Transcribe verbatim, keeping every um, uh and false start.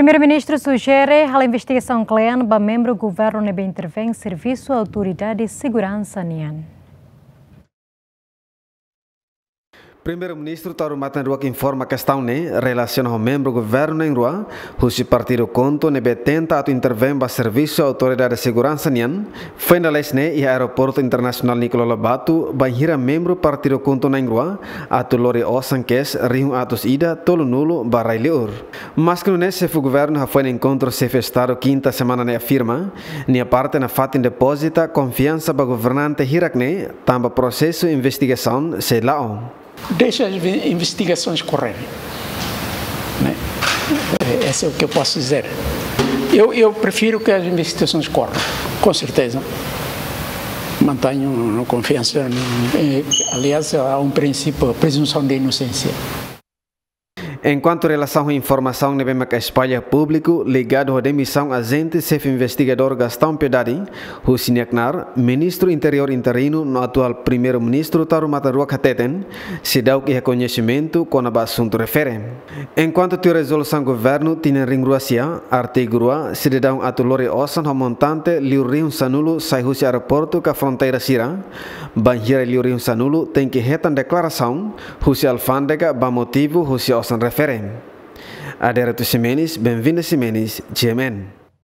Primeiru-Ministru sujere halo investigasaun kle'an ba membru governu ne'ebé intervein servisu autoridade seguransa nian. Primeiru-Ministru Taur Matan Ruak informa kestaun ne'e relasiona ho membru governu na'in-rua husi partidu KHUNTO ne'ebé tenta atu intervein ba servisu autoridade seguransa nian, foin dala hanesan ne'e iha Aeroportu Internasionál Nicolau Lobato, bainhira membru partidu KHUNTO na'in-rua atu lori osan cash rihun atus ida tolunulu ba rai-li'ur. Maski nune'e, xefe governu hafoin enkontru xefe Estadu kinta semana ne'e afirma, nia parte nafatin depozita konfiansa ba governante hirak-ne'e, tanba prosesu investigasaun sei la'o. Deixa as inve-, investigações correrem, né? Eh, esse é o que eu posso dizer. Eu, eu prefiro que as investigações corram, com certeza. Mantenho uma confiança, eh, aliás, há um princípio, a presunção de inocência. Enkuantu relasaun ho informasaun ne'ebé maka espalla públiku ligadu ho demisaun ajente xefe investigadór Gastão Piedade husi nia knaar, Ministru Interiór interinu no atuál Primeiru-Ministru Taur Matan Ruak hateten, seidauk iha koñesimentu kona-ba asuntu refere. Enkuantu tuir rezolusaun governu tinan rihun rua sia, artigu rua, sidadaun atu lori osan ho montante liu rihun sanulu sai husi aeroportu ka fronteira sira, bainhira liu rihun sanulu tenke hetan deklarasaun husi alfándega ba motivu husi osan refere. Adérito Ximenes, Benvinda Ximenes, G M N.